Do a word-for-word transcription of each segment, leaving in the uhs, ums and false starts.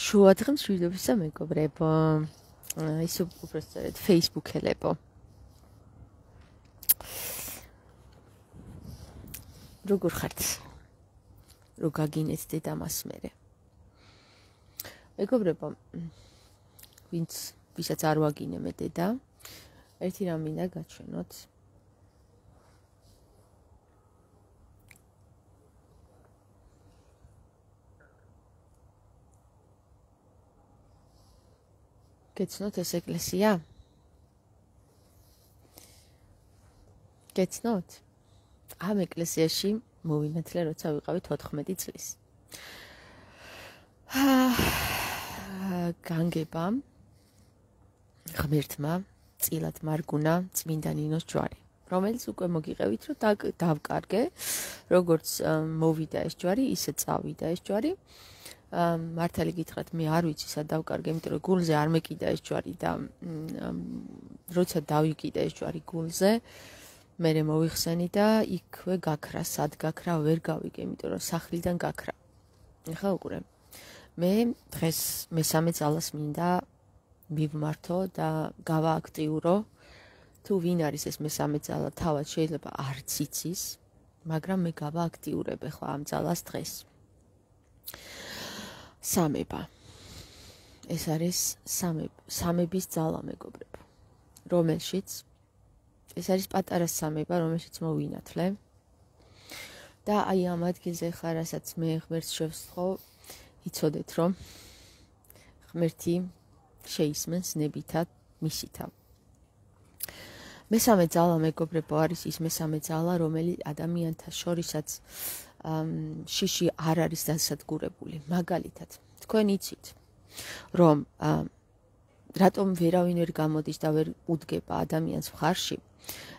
შუადღემ მშვიდობისა მეგობრებო, ის უпростად Facebook-ელებო. როგორ ხართ? რო გაგინეცდეთ ამას მერე. მეგობრებო, ვინც ვისაც არ ვაგინე მე დედა, ერთი რამ მინდა გაჩვენოთ. გეცნოთ ეს ეკლესია? გეცნოთ? ამ ეკლესიაში მოვინათლე, როცა ვიყავით ოთხმეტი წლის. განგება ღმერთმა წილად მარგუნა წმინდა ნინოს ჯვარი, რომელიც უკვე მოგიყევით, რომ დავკარგე, როგორც მოვიდა ეს ჯვარი, ისე წავიდა ეს ჯვარი. მართალი გითხრათ, მე არ ვიცი სად დავკარგე, იმიტომ რომ გულზე არ მეკიდა ეს ჯვარი და როცა დავიკიდა ეს ჯვარი გულზე, მე მოვიხსენი და იქვე გაქრა, სად გაქრა, ვერ გავიგე, იმიტომ რომ სახლიდან გაქრა. ეხლა უყურე. მე დღეს მესამე ძალას მინდა მივმართო და გავააქტიურო. თუ ვინ არის ეს მესამე ძალა, თავად შეიძლება არც იცის, მაგრამ მე გავააქტიურებ ახლა ამ ძალას დღეს. სამება. ეს არის სამების ძალა, მეგობრებო, რომელშიც ეს არის პატარა სამება, რომელშიც მოვინათლე. და აი ამ ადგილზე ხარ, რასაც მე ღმერთს შევსხო, იცოდეთ, რომ ღმერთი შეისმენს ნებითად მისითა. მესამე ძალა, მეგობრებო, არის ის მესამე ძალა, რომელიც ადამიანთა შორისაც შიში არ არის დასადგურებული. მაგალითად, თქვენ იცით, რომ რატომ ვერავინ ვერ გამოდის და ვერ უდგება ადამიანს მხარში,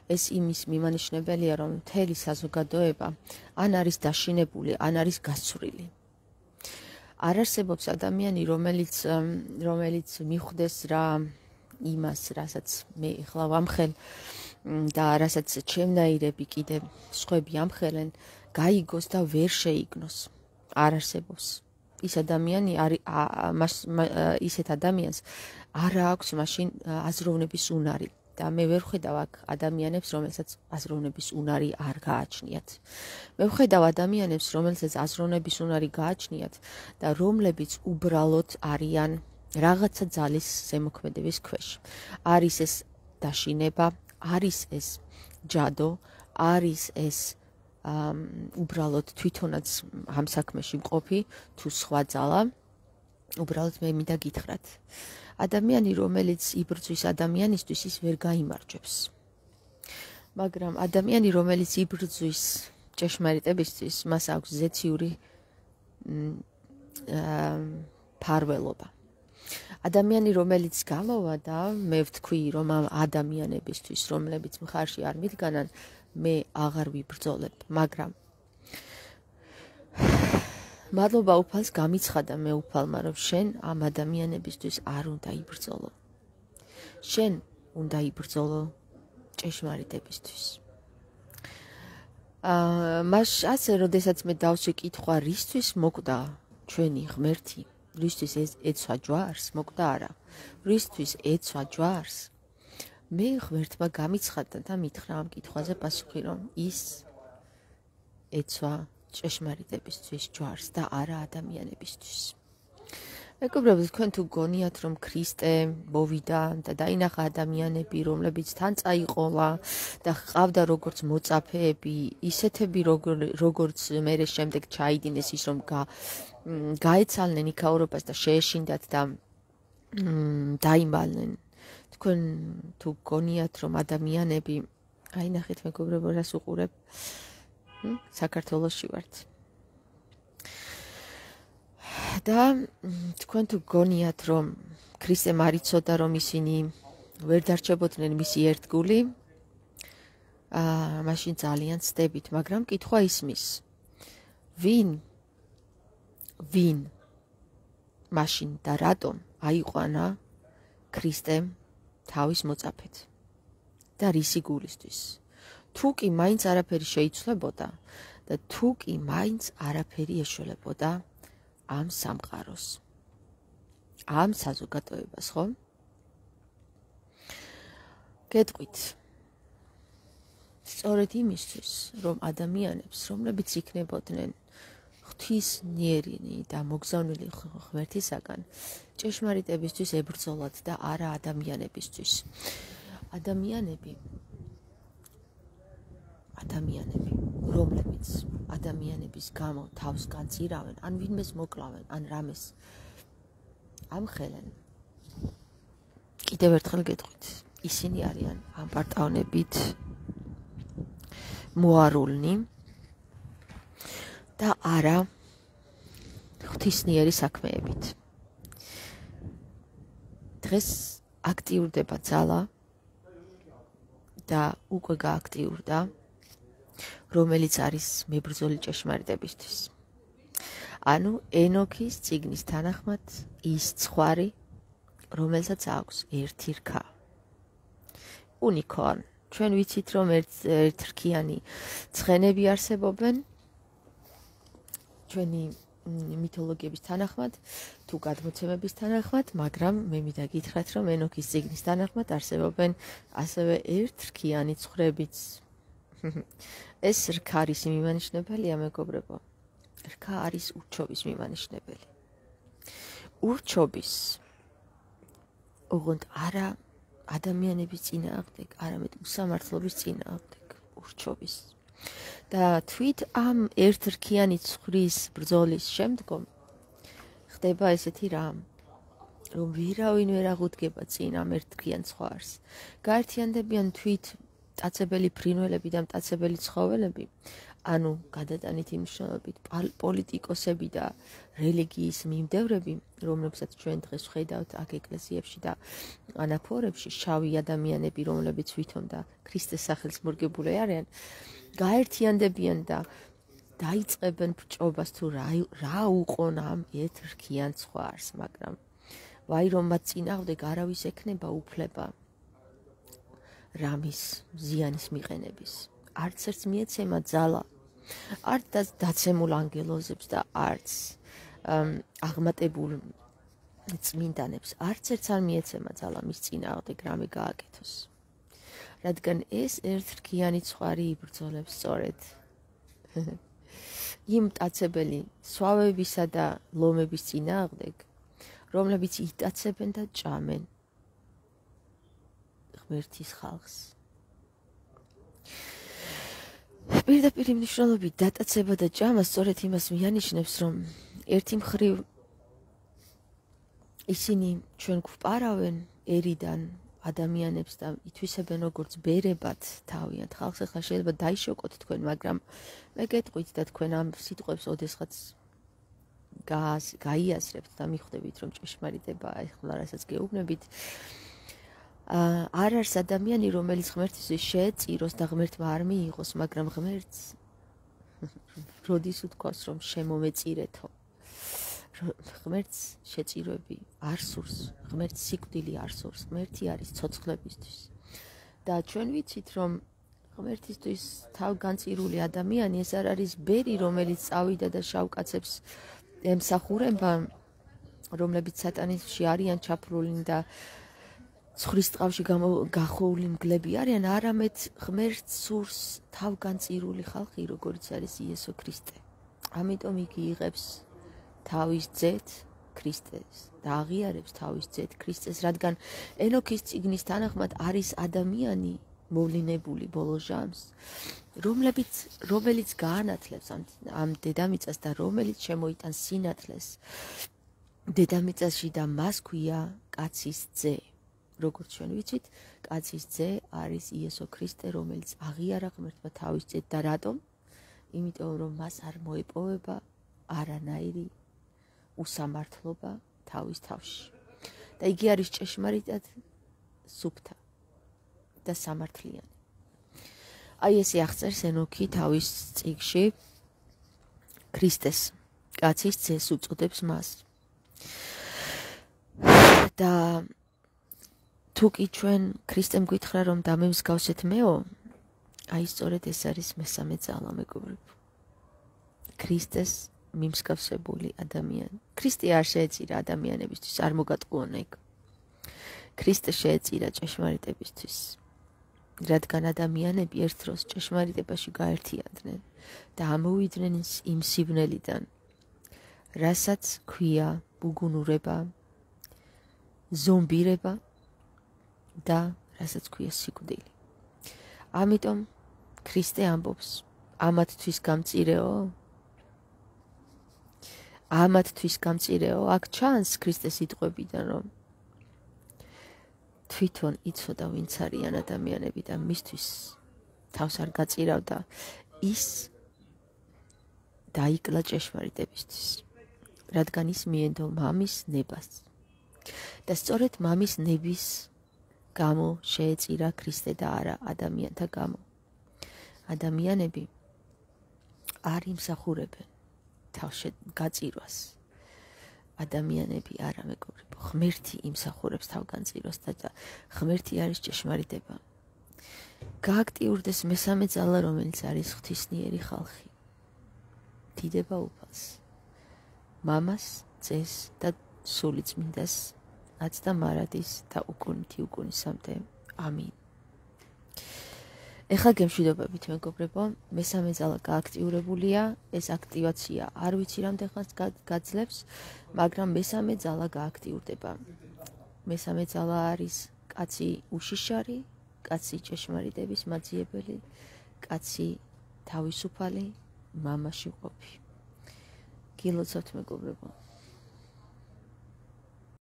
ეს იმის მიმანიშნებელია, რომ მთელი საზოგადოება ან არის დაშინებული, ან არის გასცვრილი. არ არსებობს ადამიანი, რომელიც რომელიც მიხვდეს რა იმას, რასაც მე ახლა ვამხელ და რასაც ჩემნაირები კიდე სხვები ამხელენ, გაიგოს და ვერ შეიგნოს. არ არსებობს. ის ადამიანი არის ისეთ ადამიანს არ აქვს მაშინ აზროვნების უნარი. და მე ვერ ხედავ აქ ადამიანებს, რომელსაც აზროვნების უნარი არ გააჩნიათ. მე ვხედავ ადამიანებს, რომელსაც აზროვნების უნარი გააჩნიათ და რომლებიც უბრალოდ არიან რაღაცა ძალის ზემოქმედების ქვეშ. არის ეს დაშინება, არის ეს ჯადო, არის ეს უბრალოდ თვითონაც ამ საქმეში მყოფი, თუ სხვა ძალა, უბრალოდ მე მინდა გითხრათ. ადამიანი, რომელიც იბრძვის ადამიანისთვის, ის ვერ გაიმარჯვებს. მაგრამ ადამიანი, რომელიც იბრძვის ჭეშმარიტებისთვის, მას აქვს ზეციური ფარველობა. ადამიანი, რომელიც გამოვა და მე ვთქვი, რომ ამ ადამიანებისთვის, რომლებიც მხარში არ მიდგანან, მე აღარ ვიბრძოლებ, მაგრამ მადლობა უფალს გამიცხადა მე უფალმა, რომ შენ ამ ადამიანებისთვის არ უნდა იბრძოლო. შენ უნდა იბრძოლო ჭეშმარიტებისთვის. აა მას ასე, როდესაც მე დავსვი კითხვა, რისთვის მოკვდა ჩვენი ღმერთი, რისთვის ეცვა ჯვარს, მოკვდა არა, რისთვის ეცვა ჯვარს, მე ღმერთმა გამიცხადა და მითხრა ამ კითხვაზე პასუხი, რომ ის ეცვა ჭეშმარიტებისთვის ჯვარს და არა ადამიანებისთვის. მეგობრებო, თქვენ თუ გონიათ, რომ ქრისტე მოვიდა და დაინახა ადამიანები, რომლებიც თან წაიყოლა და ჰყავდა როგორც მოწაფეები, ისეთები, როგორც მერე შემდეგ ჩაიდინეს ის, რომ გაეცალნენ იქაურობას და შეეშინდათ და დაიმალნენ. თქვენ თუ გონიათ, რომ ადამიანები, აი ნახეთ მეგობრებო, რას უყურებ, საქართველოში ვართ. და თქვენ თუ გონიათ, რომ ქრისტემ არ იცოდა, რომ ისინი ვერ დარჩებოდნენ მისი ერთგული, აა მაშინ ძალიან ცდებით, მაგრამ კითხვა ისმის. ვინ? ვინ? მაშინ და რატომ აიყვანა ქრისტემ თავის მოწაფედ და რისი გულისთვის? თუ კი მაინც არაფერი შეიცვლებოდა და თუ კი მაინც არაფერი ეშველებოდა ამ სამყაროს. ამ საზოგადოებას, ხო? გეტყვით. სწორედ იმისთვის, რომ ადამიანებს, რომლებიც იქნებოდნენ ღვთისმიერი და მოგზავნილი ღმერთისაგან, ჭეშმარიტებისთვის ებრძოლათ და არა ადამიანებისთვის. ადამიანები ადამიანები, რომლებიც ადამიანების გამო თავს განწირავენ, ან ვინმეს მოკლავენ, ან რამეს ამხელენ. კიდევ ერთხელ გეტყვით, ისინი არიან ამპარტავნებით მოარულნი და არა ღვთისმიერი საქმეებით. დღეს აქტიურდება ძალა და უკვე გააქტიურდა, რომელიც არის მებრძოლი ჭეშმარიტებისთვის. ანუ ენოქის წიგნის თანახმად ის ცხვარი, რომელსაც აქვს ერთი რქა. უნიკორნ. ჩვენ ვიცით, რომ ერთრქიანი ცხენები არსებობენ ჩვენი მითოლოგიების თანახმად, თუ გადმოცემების თანახმად, მაგრამ მე მინდა გითხრათ, რომ ენოქის წიგნის თანახმად არსებობენ ასევე ერთრქიანი ცხვრებიც. ეს რქა არის მიმანიშნებელია, მეგობრებო. რქა არის ურჩობის მიმანიშნებელი. ურჩობის ოღონდ არა ადამიანების წინააღმდეგ, არამედ უსამართლობის წინააღმდეგ, ურჩობის. და თვით ამ ერთრქიანი ცხვრის ბრძოლის შემდგომ ხდება ესეთი რამ, რომ ვერავინ ვერ აღუდგება წინ ამ ერთრქიან ცხვარს. გაერთიანდებიან თვით მტაცებელი ფრინველები და მტაცებელი ცხოველები, ანუ გადატანით იმ მნიშვნელობით პოლიტიკოსები და რელიგიის მიმდევრები, რომლებსაც ჩვენ დღეს ვხედავთ აქ ეკლესიებში და ანაფორებში, შავი ადამიანები, რომლებიც ვითომ და ქრისტეს სახელს მორგებული არიან, გაერთიანდებიან და დაიწყებენ ბრჭობას თუ რა უყონ ამ ერთრქიან ცხვარს, მაგრამ ვაი რომ მათ წინააღმდეგ არავის ექნება უფლება რამის ზიანის მიყენების. არც ერთს მიეცემა ძალა, არც დაცემულ ანგელოზებს და არც აღმატებულ წმინდანებს, არც ერთს არ მიეცემა ძალა მის წინააღმდეგ რამე გააკეთოს. რადგან ეს ერთრქიანი ცხვარი იბრძოლებს სწორედ იმ მტაცებელი სვავებისა და ლომების წინააღმდეგ, რომლებიც იტაცებენ და ჭამენ ღმერთის ხალხს. პირდაპირ მნიშვნელობით დატაცება და ჭამა სწორედ იმას მიანიშნებს, რომ ერთი მხრივ ისინი ჩვენ გვპარავენ ერიდან ადამიანებს და ითვისებენ როგორც ბერებად თავიანთ ხალხს. ახლა შეიძლება დაიშოკოთ თქვენ, მაგრამ მე გეტყვით და თქვენ ამ სიტყვებს ოდესღაც გაიაზრებთ და მიხვდებით, რომ ჭეშმარიტება ახლა რასაც გეუბნებით. არ არის ადამიანი, რომელიც ღმერთისთვის შეეწიროს და ღმერთმა არ მიიღოს, მაგრამ ღმერთს როდის უთქვას, რომ შემომეწირეთო. ღმერთს შეწირვები არ სურს, ღმერთს სიკვდილი არ სურს, ღმერთი არის ცოცხლებისთვის. და ჩვენ ვიცით, რომ ღმერთისთვის თავგანწირული ადამიანი ეს არ არის ბერი, რომელიც წავიდა და შავკაცებს ემსახურება, რომლებიც სატანისში არიან ჩაფლული და ცხვრის ტყავში გახოული მგლები არიან, არამედ ღმერთს სურს თავგანწირული ხალხი, როგორც არის იესო ქრისტე. ამიტომ იგი იღებს თავის ძეთ ქრისტეს და აღიარებს თავის ძეთ ქრისტეს, რადგან ენოქის წიგნის თანახმად არის ადამიანი მოვლინებული ბოლო ჟამს, რომლებიც რომელიც გაანათლებს ამ დედამიწას და რომელიც შემოიტანს სინათლეს დედამიწაში და მას ქვია კაცის ძე. როგორც ჩვენ ვიცით, კაცის ძე არის იესო ქრისტე, რომელიც აღიარა ღმერთმა თავის ძეთ და რატომ? იმიტომ რომ მას არ მოეპოვება არანაირი უსამართლობა თავის თავში. და იგი არის ჭეშმარიტად სუფთა და სამართლიანი. აი ესე აღწერს ენოქი თავის წიგნში ქრისტეს, კაცის ძეს უწოდებს მას. და თუკი ჩვენ ქრისტემ გითხრა რომ დამემსგავსეთ მეო, აი სწორედ ეს არის მესამე ძალა, მეგობრებო. ქრისტეს მიმსგავსებული ადამიანი. ქრისტე არ შეეწირა ადამიანებისთვის, არ მოგატყუონა იქ. ქრისტე შეეწირა ჭეშმარიტებისთვის, რადგან ადამიანები ერთ დროს ჭეშმარიტებაში გაერთიანდნენ და ამოვიდნენ იმ სივნელიდან, რასაც ქვია ბუგუნურება, ზომბირება და რასაც ქვია სიკვდილი. ამიტომ ქრისტე ამბობს, ამათთვის გამწირეო? ამათთვის გამწირეო? აქ ჩანს ქრისტეს სიტყვებიდან, რომ თვითონ იცოდა ვინც არიან ადამიანები და მისთვის თავს არ გაწირავდა, ის დაიკლა ჭეშმარიტებისთვის, რადგან ის მიენდო მამის ნებას. და სწორედ მამის ნების გამო შეეწირა ქრისტე და არა ადამიანთა გამო. ადამიანები არ იმსახურებენ თავს გაწირვას. ადამიანები არა მეგობრებო, ღმერთი იმსახურებს თავგანწირვას და ღმერთი არის ჭეშმარიტება. გააქტიურდეს მესამე ძალა, რომელიც არის ღვთისმიერი ხალხი. დიდება უფალს, მამას, ძეს და სულიწმინდას, აც და მარადის და უკუნითი უკუნისამდე. ამინ. ეხლა გემშვიდობებით მეგობრებო, მესამე ძალა გააქტიურებულია, ეს აქტივაცია არ ვიცი რამდენხანს გაძლებს, მაგრამ მესამე ძალა გააქტიურდება. მესამე ძალა არის კაცი უშიშარი, კაცი ჭეშმარიტების მაძიებელი, კაცი თავისუფალი, მამაში ყოფი. გილოცავთ მეგობრებო.